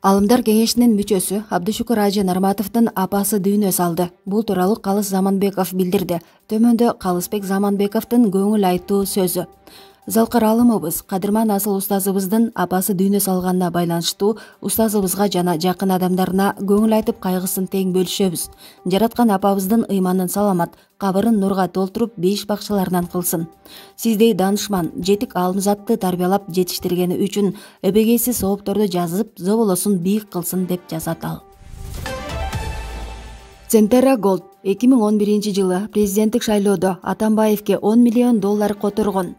Алымдар кеңешинин мүчөсү Абдышукур Ажы Нарматовдун апасы дүйнө салды. Бул тууралуу Калыс Заманбеков билдирди. Төмөндө Калысбек Заманбековдун көңүл айтуу сөзү. Залкар алымыбыз кадырман асыл устазыбыздын апасы дүйнө салганына байланыштуу устазыбызга жана жакын адамдарына көңүл айтып кайгысын тең бөлүшөбүз. Жараткан апабыздын ыйманын саламат, кабырын нурга толтуруп бейиш бакчаларынан кылсын. Сиздей данышман, жетик алымзатты тарбиялап жетиштиргени үчүн эбегейсиз соопторду жазып, зоболосун бийик кылсын деп жазат ал. Центерра Голд 2011-жылы президенттик шайлоодо Атамбаевке $10 миллион которгон.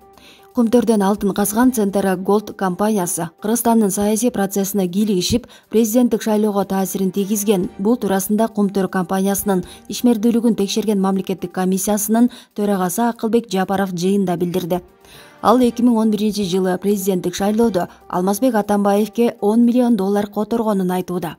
Кумтөрдөн алтын казган Центерра Голд компаниясы Кыргызстандын саясий процессине кийлигишип, президенттик шайлоого таасирин тийгизген. Бул туурасында Кумтөр компаниясынын ишмердүүлүгүн текшерген мамлекеттик комиссиясынын төрагасы Акылбек Жапаров жыйында билдирди. Ал 2011-жылы президенттик шайлоодо Алмазбек Атамбаевке $10 миллион которгонун айтууда.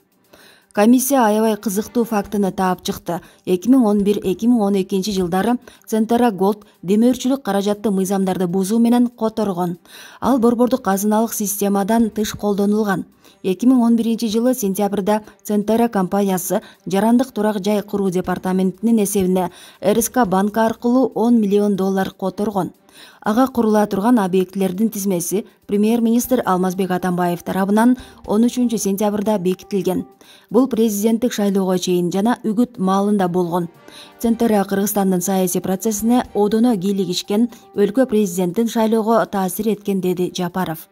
Комиссия аябай кызыктуу фактыны таап чыкты. 2011-2012 жылдары Центерра Голд демөөрчүлүк каражатты мыйзамдарды бузуу менен которгон. Ал борбордук казыналык системадан тыш колдонулган. 2011-жылы сентябрда Центерра компаниясы жарандык турак жай куруу департаментинин эсебине РСК банкы аркылуу $10 миллион которгон. Ага курула турган объектилердин тизмеси премьер-министр Алмазбек Атамбаев тарабынан 13 сентябрда бекитилген. Бул президенттик шайлоого чейин жана үгүт маалында болгон. Центерра Кыргызстандын саясий процессине одоно кийлигишкен, өлкө президенттин шайлоого таасир эткен, деди Жапаров.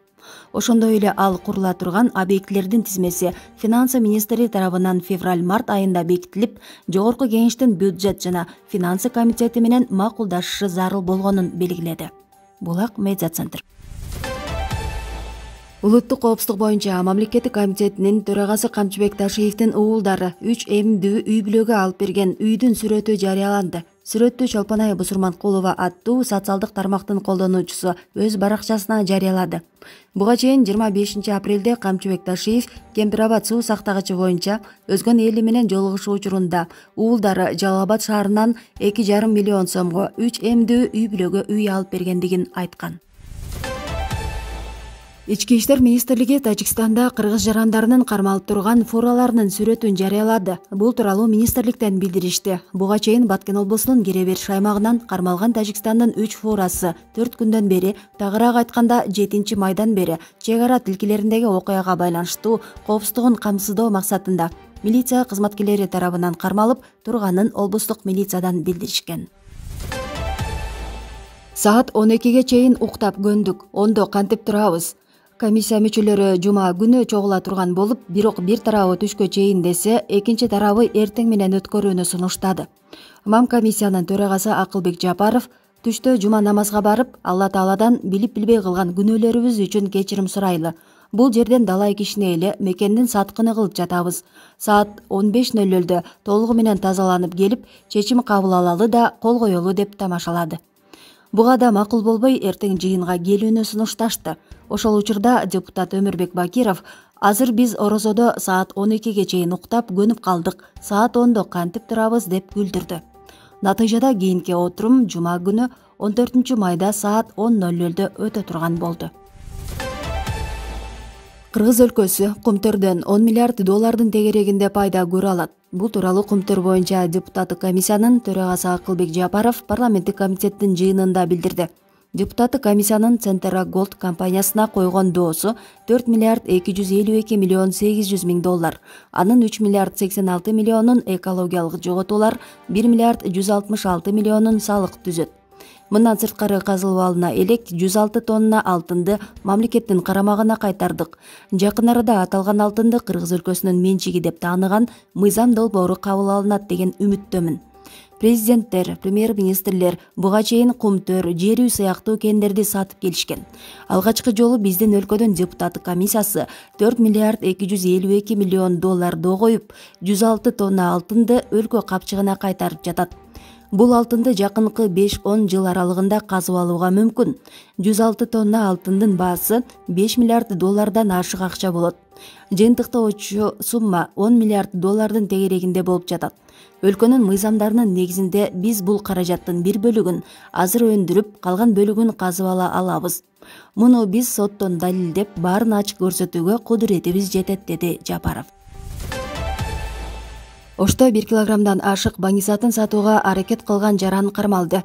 Ошондой эле ал курула турган объектилердин тизмеси финансы министри тарабынан февраль-март айында бекитилип, жогорку кеңештин бюджет жана финансы комитети менен макулдашышы зарыл болгонун белгиледи. Булак медиа центр. Улуттук коопсуздук боюнча мамлекеттик комитетинин төрагасы Камчыбек Ташиевдин уулдары 3 эмдүү үй бүлөгө алып берген үйдүн сүрөтү жарыяланды. Сүрөттү Чолпонай Бусурманкулова аттуу социалдык тармактын колдонуучусу өз баракчасына жарыялады. Буга чейин 25 апрелде Камчыбек Ташиев Кемпирабад суу сактагычы боюнча өзгөн эли менен жолугушуу учурунда уулдары Жалал Абад шаарынан 2,5 миллион сомго 3 эмдүү үй бүлөгө үй алып бергендигин айткан. Ички иштер министрлиги Тажикстанда кыргыз жарандарынын кармалып турган фураларынын сүрөтүн жарыялады. Бул тууралуу министрликтен билдиришти. Буга чейин Баткен облусунун Кере Бериш аймагынан кармалган Тажикстандын 3 фурасы 4 күндөн бери, тагыраак айтканда 7 майдан бери чек ара тилкелериндеги окуяга байланыштуу коопсуздугун камсыздоо максатында милиция кызматкерлери тарабынан кармалып турганын облустук милициядан билдиришкен. Саат 12ге чейин уктап көндүк, ондо кантип турабыз? Комиссия мүчөлөрү жума күнү чогула турган болуп, бирок бир тарабы түшкө чейин десе, экинчи тарабы эртең менен өткөрүүнү сунуштады. МАМ комиссиянын төрагасы Акылбек Жапаров түштө жума намазга барып, Алла Тааладан билип-билбей кылган күнөөлөрүбүз үчүн кечирим сурайлы. Бул жерден далай кишине эле мекендин саткыны кылып жатабыз. Саат 15:00 толугу менен тазаланып келип, чечим кабыл алалы да кол коелу деп тамашалады. Буга да макул болбой, эртең жыйынга келүүнү сунушташты. Ошол учурда депутат Өмүрбек Бакиров: азыр биз орозодо саат 12ге чейин уктап көнүп калдык, саат 10до кантип турабыз деп күлдүрдү. Натыйжада кийинки отурум жума күнү 14 майда саат 10:00 өтө турган болду. Кыргыз өлкөсү Кумтөрдөн $10 миллиард тегерегинде пайда көрө алат. Бул тууралуу Кумтөр боюнча депутаттык комиссиянын төрагасы Акылбек Жапаров парламенттик комитеттин жыйынында билдирди. Депутаттык комиссиянын Центерра Голд компаниясына койгон доосу $4 миллиард 252 миллион 800 миң доллар. Анын $3 миллиард 86 миллионун экологиялык жоготуулар, $1 миллиард 166 миллионун салык түзөт. Мындан сырткары казылып алына элек 106 тонна алтынды мамлекеттин карамагына кайтардык. Жакын арада аталган алтынды Кыргыз өлкөсүнүн менчиги деп тааныган мыйзам долбоору кабыл алынат деген үмүттөмүн. Президенттер, премьер-министрлер буга чейин Кумтөр, Жер үй сыяктуу кендерди сатып келишкен. Алгачкы жолу биздин өлкөдөн депутаттык комиссиясы $4 миллиард 252 миллион доллар коюп, 106 тонна алтынды өлкө капчыгына кайтарып жатат. Бул алтынды жакынкы 5-10 жыл аралыгында казып алууга мүмкүн. 106 тонна алтындын баасы 5 миллиард доллардан ашык акча болот. Жыйынтыктоочу сумма 10 миллиард доллардын тегерегинде болуп жатат. Өлкөнүн мыйзамдарынын негизинде биз бул каражаттын бир бөлүгүн азыр өндүрүп, калган бөлүгүн казып ала алабыз. Муну биз соттон далилдеп, баарын ачык көрсөтүүгө кудуретибиз жетет, деди Жапаров. Ошто 1 килограммдан ашык баңгизатын сатууга аракет кылган жаран кармалды.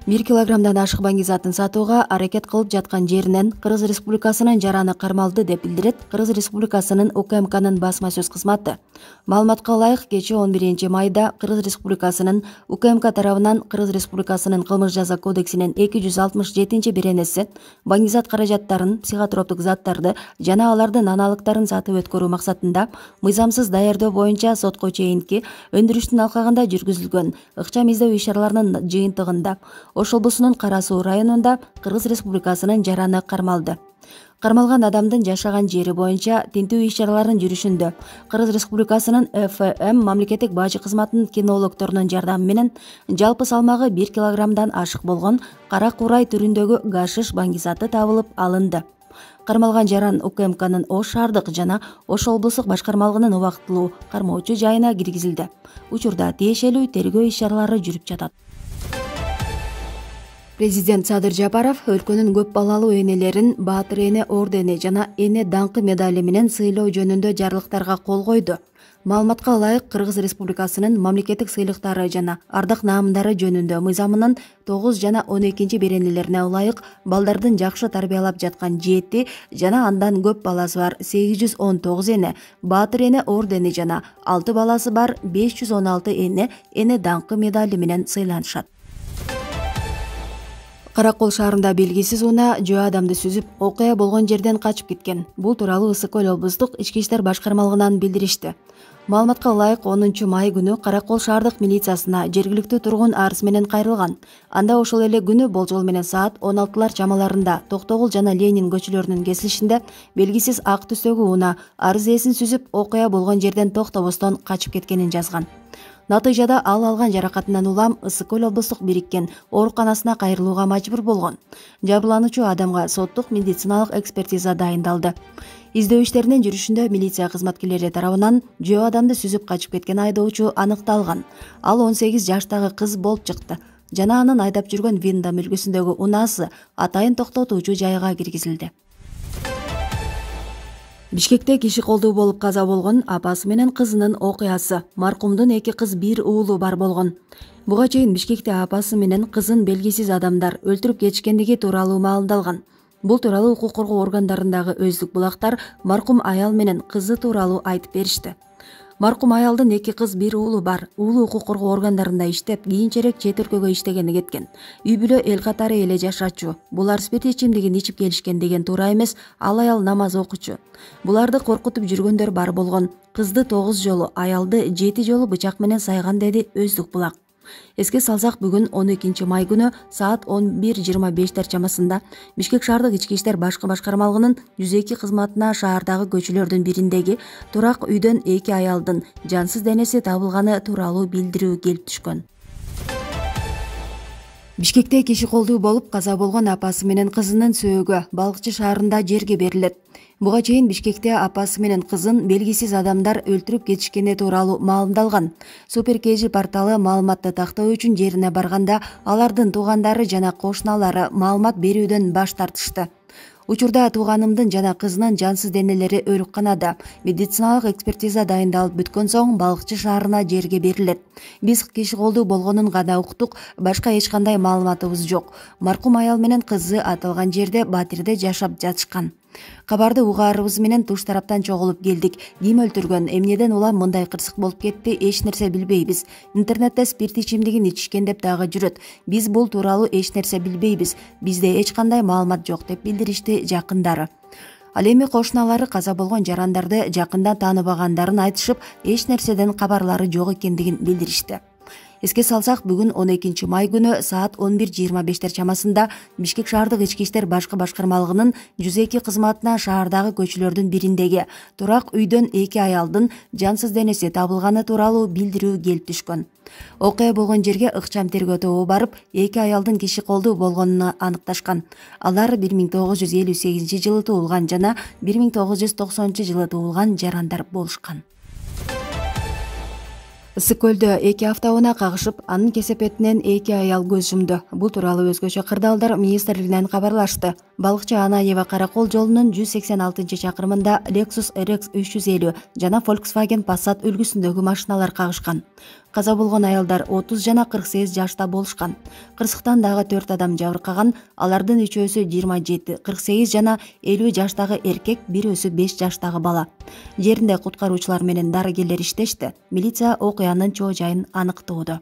1 килограммдан ашык баңгизатын сатууга аракет кылып жаткан жеринен Кыргыз Республикасынын жараны кармалды деп билдирет Кыргыз Республикасынын УКМКнын басма сөз кызматы. Маалыматка ылайык, кечээ 11 майда Кыргыз Республикасынын УКМК тарабынан Кыргыз Республикасынын кылмыш жаза кодексинин 267-беренеси баңгизат каражаттарын, психотроптук заттарды жана алардын аналыктарын сатып өткөрүү максатында мыйзамсыз даярдоо боюнча сотко чейинки өндүрүштүн алкагында жүргүзүлгөн ыкчам издөө иш-чараларынын жыйынтыгында Ош облусунун Кара Суу районунда Кыргыз Республикасынын жараны кармалды. Кармалган адамдын жашаган жери боюнча тинтүү иш-чараларынын жүрүшүндө Кыргыз Республикасынын ФМ мамлекеттик бажы кызматынын кинологторунун жардамы менен жалпы салмагы 1 килограммдан ашык болгон кара курай түрүндөгү гашиш баңгизаты табылып алынды. Кармалган жаран УКМКнын Ош шаардык жана Ош облустук башкармалыгынын убактылуу кармоочу жайына киргизилди. Учурда тиешелүү тергөө иш-чаралары жүрүп жатат. Президент Садыр Жапаров өлкөнүн көп балалуу энелерин Баатыр эне ордени жана эне даңкы медали менен сыйлоо жөнүндө жарлыктарга кол койду. Маалыматка ылайык, Кыргыз Республикасынын мамлекеттик сыйлыктары жана ардак наамдары жөнүндө мыйзамынын 9 жана 12 беренелерине ылайык балдардын жакшы тарбиялап жаткан 7 жана андан көп баласы бар 819 эне Баатыр эне ордени жана 6 баласы бар 516 эне эне даңкы медали менен сыйланышат. Каракол шаарында белгисиз унаа жөө адамды сүзүп, окуя болгон жерден качып кеткен. Бул тууралуу Ысык Көл облустук ички иштер башкармалыгынан билдиришти. Маалыматка ылайык, 10 май күнү Каракол шаардык милициясына жергиликтүү тургун арыз менен кайрылган. Анда ошол эле күнү болжол менен саат 16 чамаларында Токтогул жана Ленин көчөлөрүнүн кесилишинде белгисиз ак түстөгү унаа арыз ээсин сүзүп, окуя болгон жерден токтобостон качып кеткенин жазган. Натыйжада ал алган жаракатынан улам Ысык Көл облустук бириккен ооруканасына кайрылууга мажбур болгон. Жабырлануучу адамга соттук медициналык экспертиза дайындалды. Издөө иштеринин жүрүшүндө милиция кызматкерлери тарабынан жөө адамды сүзүп качып кеткен айдоочу аныкталган. Ал 18 жаштагы кыз болуп чыкты жана анын айдап жүргөн Винда мүлкүсүндөгү унаасы атайын токтотуучу жайга киргизилди. Бишкекте киши колдуу болуп каза болгон апасы менен кызынын окуясы. Маркумдун 2 кыз, 1 уулу бар болгон. Буга чейин Бишкекте апасы менен кызын белгисиз адамдар өлтүрүп кетишкендиги тууралуу маалымдалган. Бул тууралуу укук коргоо органдарындагы өздүк булактар маркум аял менен кызы тууралуу айтып беришти. Маркум аялдын 2 кыз, 1 уулу бар. Уулу укук коргоо органдарында иштеп, кийинчерээк чет өлкөгө иштегени кеткен. Үй бүлө эл катары эле жашачу. Булар спирт ичимдигин ичип келишкен деген туура эмес, ал аял намаз окучу. Буларды коркутуп жүргөндөр бар болгон. Кызды 9 жолу, аялды 7 жолу бычак менен сайган, деди өздүк булак. Эске салсак, бүгүн 12 май күнү саат 11:25 чамасында Бишкек шаардык ички иштер башкармалыгынын 102 кызматына шаардагы көчөлөрдүн бириндеги турак үйдөн 2 аялдын жансыз денеси табылганы тууралуу билдирүү келип түшкөн. Бишкекте киши колдуу болуп каза болгон апасы менен кызынын сөөгү Балыкчы шаарында жерге берилет. Буга чейин Бишкекте апасы менен кызын белгисиз адамдар өлтүрүп кетишкени тууралуу маалымдалган. Супер KG порталы маалыматты тактоо үчүн жерине барганда алардын туугандары жана кошуналары маалымат берүүдөн баш тартышты. Учурда тууганымдын жана кызынын жансыз денелери өөлүкканада. Медициналык экспертиза дайындалып бүткөн соң Балыкчы шаарына жерге берилет. Биз киши колдуу болгонун гана уктук, башка эч кандай маалыматыбыз жок. Маркум аял менен кызы аталган жерде Батирде жашап жатышкан. Кабарды угаарыбыз менен туш тараптан чогулуп келдик. Ким өлтүргөн, эмнеден улам мындай кырсык болуп кетти, эч нерсе билбейбиз. Интернетте спирт ичимдигин ичишкен деп дагы жүрөт. Биз бул тууралуу эч нерсе билбейбиз. Бизде эч кандай маалымат жок, деп билдиришти жакындары. Ал эми кошуналары каза болгон жарандарды жакындан тааныбагандарын айтышып, эч нерседен кабарлары жок экендигин билдиришти. Эске салсак, бүгүн 12 май күнү саат 11:25 чамасында Бишкек шаардык ички иштер башкы башкармалыгынын 102 кызматына шаардагы көчөлөрдүн бириндеги турак үйдөн 2 аялдын жансыз денеси табылганы тууралуу билдирүү келип түшкөн. Окуя болгон жерге ыкчам тергөө тобу барып, 2 аялдын киши колдуу болгонун аныкташкан. Алар 1958 туулган жана 1990 туулган жарандар болушкан. Ысык көлдө 2 автоунаа кагышып, анын кесепетинен 2 аял көз жумду. Бул тууралуу өзгөчө кырдаалдар министрлигинен кабарлашты. Балыкчы Анаева Каракол жолунун 186-чакырымында Lexus RX 350 жана Volkswagen Passat үлгүсүндөгү машиналар кагышкан. Каза болгон аялдар 30 жана 48 жашта болушкан. Кырсыктан дагы 4 адам жабыркаган. Алардын 3өөсү 27, 48 жана 50 жаштагы эркек, бирөөсү 5 жаштагы бала. Жеринде куткаруучулар менен дарыгерлер иштешти. Милиция окуянын чоо жайын аныктоодо.